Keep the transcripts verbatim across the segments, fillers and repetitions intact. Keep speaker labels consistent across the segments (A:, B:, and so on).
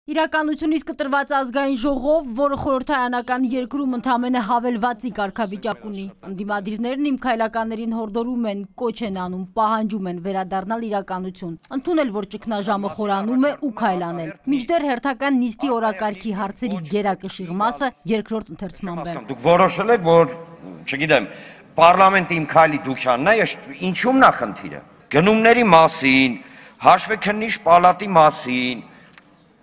A: Իրականությունից կտրված ազգային ժողով, որը խորհրդարանական երկրում ընդամենը հավելվածի կարգավիճակ ունի, ընդդիմադիրներն իմ քայլականներին հորդորում են, կոչ են անում, պահանջում են վերադառնալ իրականություն, ընդունել, որ ճգնաժամը խորանում է ու քայլանել։ Մինչդեռ հերթական նիստի օրակարգի հարցերի գերակշիռ մասը երկրորդ ընթերցման բեմ։
B: Դուք որոշել եք, որ, չգիտեմ, պարլամենտի իմ քայլի դուքյանն է, ինչումն է խնդիրը։ Գնումների մասին, հաշվեկննիչ պալատի մասին,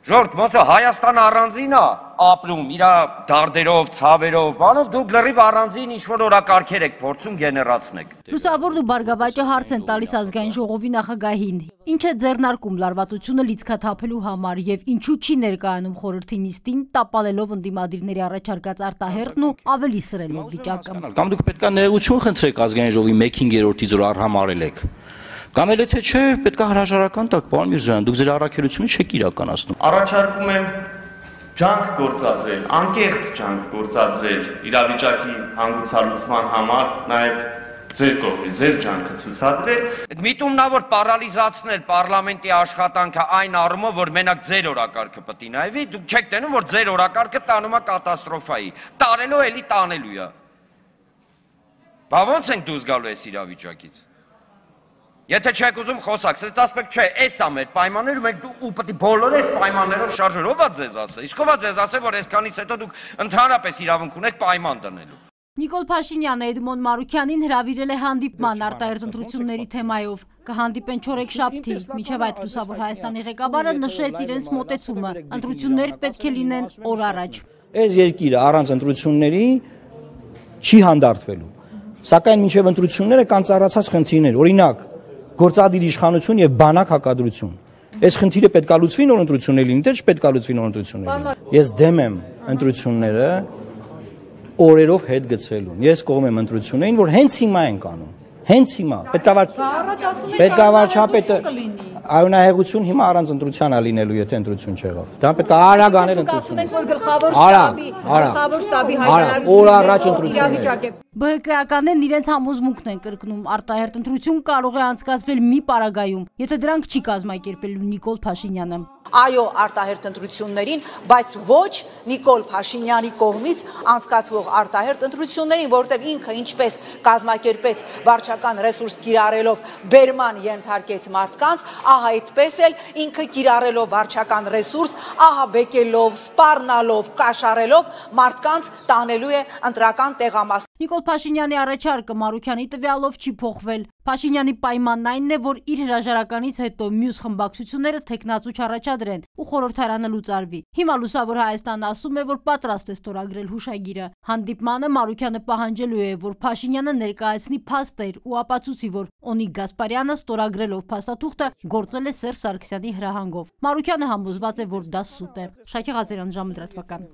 B: Ժորդ, ոնց է Հայաստանը առանձին է ապրում, իր դարդերով, ցավերով, բանով դուք լրիվ առանձին ինչ-որ օրակարգեր եք փորձում գեներացնեք։
A: Լուսավորն ու Բարգավաճը հարց են տալիս ազգային ժողովի նախագահին։ Ինչ է ձեռնարկում լարվածությունը լիցքաթափելու համար եւ ինչու չի ներկայանում խորհրդի նիստին, տապալելով ընդդիմադիրների առաջարկած արտահերթն ու ավելի սրելով վիճակը։
C: Կամ դուք պետք է ներողություն խնդրեք ազգային ժողովի մեկ հինգերորդից, որ արհամարել եք։ Կամ էլ թե չէ, պետք է հրաժարական տաք, պարոն Միրզոյան, դուք ձեր առաքելությունը չեք իրականացնում։
D: Առաջարկում եմ ջանք գործադրել, անկեղծ ջանք գործադրել իրավիճակի հանգուցալուծման համար, նաև ձեր կողմից, ձեր ջանքը ցուցադրել։
B: Այդ միտումն է, որ պարալիզացնել պարլամենտի աշխատանքը այն առումով, որ մենակ ձեր օրակարգը պետք է նայվի, դուք չեք տենում, որ ձեր օրակարգը տանում է կատաստրոֆայի, տարելով էլի տանելու է։ Բա ո՞նց ենք դուրս գալու այս իրավիճակից։ Եթե չեք ուզում խոսակ, սենց ասպեք չէ, էս է մեր պայմանները, մենք ու պետք է բոլորը այս պայմաններով շարժել, ով է ձեզ ասել, իսկ ով է ձեզ ասել, որ այսքանից հետո դուք ընդհանրապես իրավունք ունեք պայման դնելու։
A: Նիկոլ Փաշինյանը Էդմոն Մարուքյանին հրավիրել է հանդիպման արտահերթ ընտրությունների թեմայով։ Կհանդիպեն չորեքշաբթի, մինչև այդ Լուսավոր Հայաստանի ղեկավարը նշեց իրենց մոտեցումը, ընտրություններ պետք է լինեն օր առաջ։
E: Այս երկիրը առանց ընտրությունների չի հանդարտվելու, սակայն մինչև ընտրությունները կան ծառացած խնդիրներ, օրինակ գործադիր իշխանություն եւ բանակ հակադրություն։ Այս խնդիրը պետք է լուծվի նոր ընտրություններ լինի, թե չպետք է լուծվի նոր ընտրություններ։ Ես դեմ եմ ընտրությունները օրերով հետ գցելուն։ Ես կողմ եմ ընտրություններին, որ հենց հիմա են կանում։ Հենց հիմա։ Պետք է վարչապետը Արյունահեղություն հիմա առանց ընտրության է լինելու, եթե ընտրություն չեղավ։ Դա պետք է արագ անել ընտրություն։ Արագ, արագ։ Օր առաջ ընտրություն։
A: Բ Հ Կ-ականներն իրենց համոզմունքն են կրկնում, արտահերթ ընտրություն կարող է անցկացվել մի պարագայում, եթե դրանք չի կազմակերպելու Նիկոլ Փաշինյանը։
F: Այո, արտահերթ ընտրություններին, բայց ոչ Նիկոլ Փաշինյանի կողմից անցկացվող արտահերթ ընտրություններին, որտեղ ինքը ինչպես կազմակերպեց վարչական ռեսուրս կիրառելով բերման ենթարկեց մարդկանց, ահա այդպես էլ ինքը կիրառելով վարչական ռեսուրս, ահա բեկելով, սպառնալով, կաշառելով մարդկանց տանելու է ընտրական տեղամաս։
A: Նիկոլ Փաշինյանի առաջարկը Մարուքյանի տվյալով չի փոխվել։ Փաշինյանի պայմանն այնն է, որ իր հրաժարականից հետո մյուս խմբակցությունները թեկնածու չառաջադրեն ու խորհրդարանը լուծարվի։ Հիմա Լուսավոր Հայաստանն ասում է, որ պատրաստ է ստորագրել հուշագիրը։ Հանդիպմանը Մարուքյանը պահանջելու է, որ Փաշինյանը ներկայացնի փաստեր ու ապացուցի, որ Օնիկ Գասպարյանը ստորագրելով փաստաթուղթը գործել է Սերժ Սարգսյանի հրահանգով։ Մարուքյանը համոզված է, որ դա սուտ է։ Շաքե Ղազարյան, ժամը լրատվական։